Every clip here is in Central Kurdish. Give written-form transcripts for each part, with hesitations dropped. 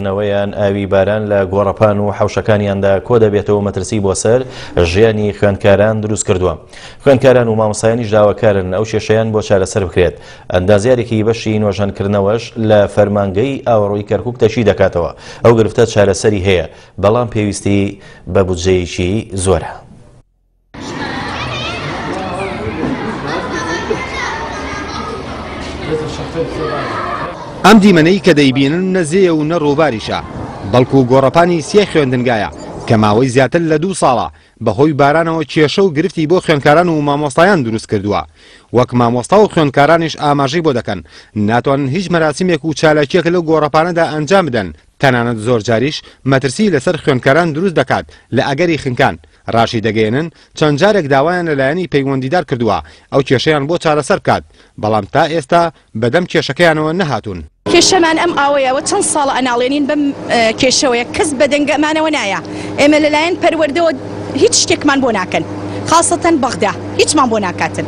نەوەیان ئاوی باران لە گۆڕەپان و حەوشەکانیاندا کۆدەبێتەوە و مەترسی بۆ سەر ژیانی خوێندکاران دروستکردووە. خوێندکاران و مامۆستایانیش داواکارن ئەو کێشەیان بۆ چارەسەر بکرێت. ئەندازیارێکی بەشی نۆژەنکردنەوەش لە فەرمانگەی ئاوەڕۆی کەرکوک تەکی دەکاتەوە ئەو گرفتە چارەسەری هەیە، بەڵام پێویستی بە بودجەیەکی زۆرە. ئەم دیمەنەی کە دەیبینن نە زێیە و نە ڕووباریشە، بەڵکو گۆڕەپانی سێ خوێندنگایە کە ماوەی زیاتر لە دوو ساڵە بەهۆی بارانەوە کێشە و گرفتی بۆ خوێندکاران و مامۆستایان دروست کردووە. وەک مامۆستا و خوێندکارانیش ئاماژەی بۆ دەکەن، ناتوانن هیچ مەراسیمێک و چالاکییەک لەو گۆڕەپانەدا ئەنجام بدەن، تەنانەت زۆرجاریش مەترسی لەسەر خوێندکاران دروست دەکات لە ئەگەری خنکان. ڕاشیدەگەیەنن، چەند جارێک داوایان لە لایەنی پەیوەندیدار کردووە ئەو کێشەیان بۆ چارەسەر بکات، بەڵام تا ئێستا بەدەم کێشەکەیانەوە نەهاتوون. کێشەمان ئەم ئاوەیە و چەند ساڵە ئەناڵێنین بەم کێشەوەیە کەس بەدەنگەمانەوە نایە ئێمە لەلایەن پەروەردەوە هیچ شتێکمان بۆ ناکەن خاسەتەن بەغدا هیچمان بۆ ناکاتن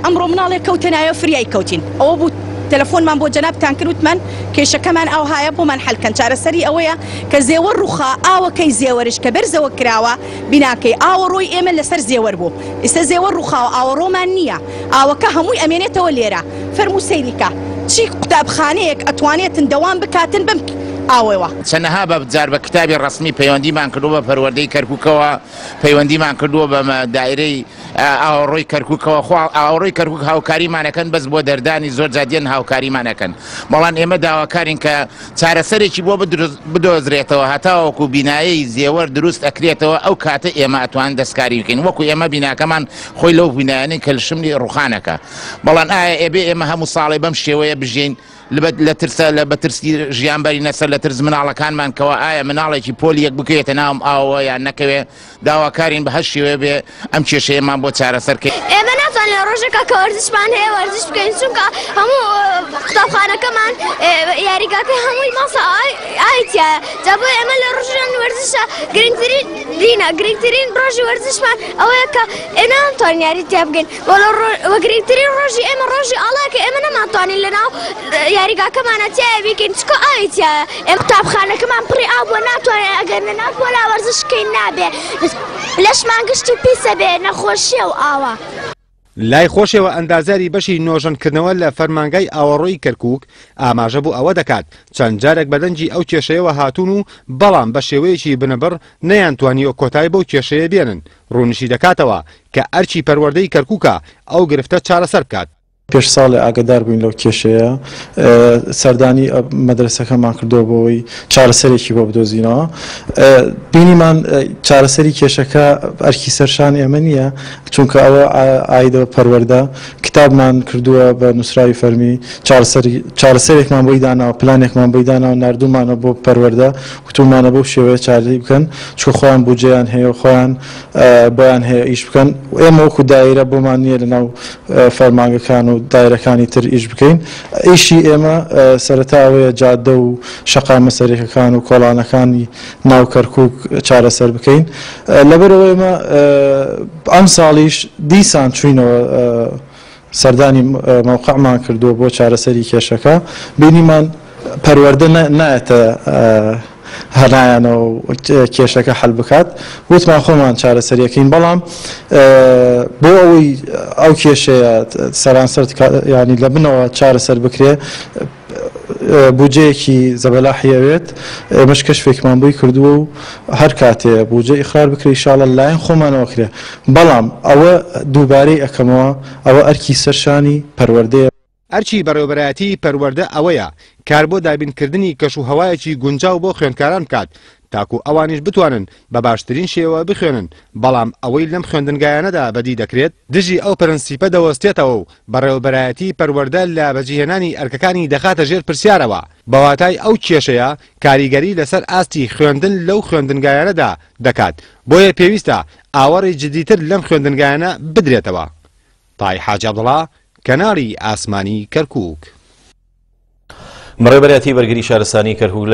ئەمڕۆ مناڵێک کەوتە نایەوە فریای کەوتین ئەوە بوو تەلەفۆنمان بۆ جەنابتان کرد وتمان کێشەکەمان ئاوهایە بۆمان حەل کەن چارەسەری ئەوەیە کە زێوەر ڕوخا ئاوەکەی زێوەرش کە بەرزەوە کراوە بیناکەی ئاوەڕۆی ئێمە لەسەر زێوەر بوو ئیستا زێوەر ڕوخاوە ئاوەڕۆمان نییە ئاوەکە هەمووی ئەمێنێتەوە لێرە فەرموو سەیری کە چی قوتابخانەیەک ئەتوانێتن دەوام بکاتن بەم ئاوەوە. چەنەها بە جار بە کتابی ڕەسمی پەیوەندیمان کردووە بە پەروەردەی کەرکوکەوە پەیوەندیمان کردووە بە دایرەی ئاوەڕۆی کەرکوکەوە خۆ ئاوەڕۆی کەرکوک هاوکاریمان ئەکەن بەس بۆ دەردانی زۆر جار دێن هاوکاریمان ئەکەن بەڵام ئێمە داواکارین کە چارەسەرێکی بۆ بدۆزرێتەوە هەتاوەکو بینایەی زێوەر دروست ئەکرێتەوە ئەو کاتە ئێمە ئەتوان دەستکاری بکەین وەکو ئێمە بیناکەمان خۆی لەو بینایانەی کە شملی ڕوخانەکە بەڵام ئایا ئێبێ ئێمە هەموو ساڵێ بەم شێوەیە بژین لە ترسە لە بە ترسی ژیان بەرینە سەر لە ترس مناڵەکانمان کەەوە ئایا مناڵێکی پۆلی یەک بکەوێتە ناوم ئاوە یان نەکەوێ داواکارین بە هەر شێوەیە بێ ئەم کێشەیەمان بۆ چارەسەر کەی. ئێمە ناتوانین لە ڕۆژێکا کە وەرزشمان هەیە وەرزش بکەین چونکە هەموو قوتابخانەکەمان یاریگاکەی هەمووی ماسە ئاوی تیایە جا بۆیە ئێمە لە ڕۆژان وەرزشە گرنگترین دینە گرنگترین ڕۆژی وەرزشمان ئەوەیە کە ئێمە ناتوانین یاری تیا بکەین وە گرنگترین ڕۆژی ئێمە ڕۆژی ئاڵایە کە ئێمە نەمانتوانین لەناو یاریگاکەمانە تیایە بیکەین چونکە ئاوی تیایە ئێمە قوتابخانەکەمان پڕی ئاو بووە ناتوانین ئەگەر لەناو پۆلا وەرزش بکەین نابێ لەشمان گشتی پیسە بێ نەخۆشیە و ئاوە. لای خۆشیەوە ئەندازیاری بەشی نۆژەنکردنەوە لە فەرمانگای ئاوەڕۆی کەرکوک ئاماژە بۆ ئەوە دەکات چەند جارێک بە دەنگی ئەو کێشەیەوە هاتوون و بەڵام بە شێوەیەکی بنبڕ نەیانتوانیوە کۆتای بەو کێشەیە بێنن، ڕوونیشی دەکاتەوە کە ئەرکی پەروەردەی کەرکوکە ئەو گرفتە چارەسەر بکات. پێش ساڵێ ئاگەدار بووین لەو کێشەیە، سەردانی مەدرەسەکەمان کردووە بۆ ئەوەی چارەسەرێکی بۆ بدۆزینەوە. بینیمان چارەسەری کێشەکە ئەرکی سەرشان ئێمە نییە، چونکە ئەوە ئایدە بە پەروەردە. کتابمان کردووە بە نووسراوی فەرمی، چارەسەرێکمان بۆی داناوە، پلانێکمان بۆی داناوە، ناردوومانە بۆ پەروەردە، وتوومانە بەو شێوەیە چارەی بکەن، چونکە خۆیان بودجەیان هەیە و خۆیان بۆیان هەیە ئیش بکەن. ئێمە وەکو دایرە بۆمان نییە لەناو فەرمانگەکان و دایرەکانی تر ئیش بکەین. ئیشی ئێمە سەرەتا ئەوەیە جادە و شەقامە سەرەکەکان و کۆڵانەکانی ناو کەرکووک چارەسەر بکەین. لەبەرئەوە ئێمە ئەمساڵیش دیسان چووینەوە سەردانی مەوقعمان کردووە بۆ چارەسەری کێشەکە، بینیمان پەروەردە نایەتە هەنایانەوە و کێشەکە حەل بکات، وتمان خۆمان چارەسەریەکەین، بەڵام بۆ ئەوەی ئەو کێشەیە سەرانسەر ینی لە بنەوە چارەسەر بکرێ بودجەیەکی زەبەلاحی ئەوێت، ئێمەش کەشفێکمان بۆی کردووە و هەر کاتێ بودجە ئیقرار بکرێ ئیشاڵڵا لەلایەن خۆمانەوە کرێ، بەڵام ئەوە دووبارەی ئەکەمەوە ئەوە ئەرکی سەر شانی پەروەردەیە. ئەرکی بەڕێوەبەرایەتیی پەروەردە ئەوەیە کار بۆ دابینکردنی کەشوهەوایەکی گونجاو بۆ خوێندکاران بکات تاکو ئەوانیش بتوانن بە باشترین شێوە بخوێنن، بەڵام ئەوەی لەم خوێندنگایانەدا بەدی دەکرێت دژی ئەو پرەنسیپە دەوەستێتەوە و بەڕێوەبەرایەتیی پەروەردە لە بەجیهێنانی ئەرکەکانی دەخاتە ژێر پرسیارەوە، بە واتای ئەو کێشەیە کاریگەری لەسەر ئاستی خوێندن لەو خوێندنگایانەدا دەکات، بۆیە پێویستە ئاوەڕی جدیتر لەم خوێندنگایانە بدرێتەوە. تای حاجی عەبدوڵا، کەناڵی ئاسمانی کەرکووک. بەڕێوەبەرایەتی بەرگری شارستانی کەرکووک لە.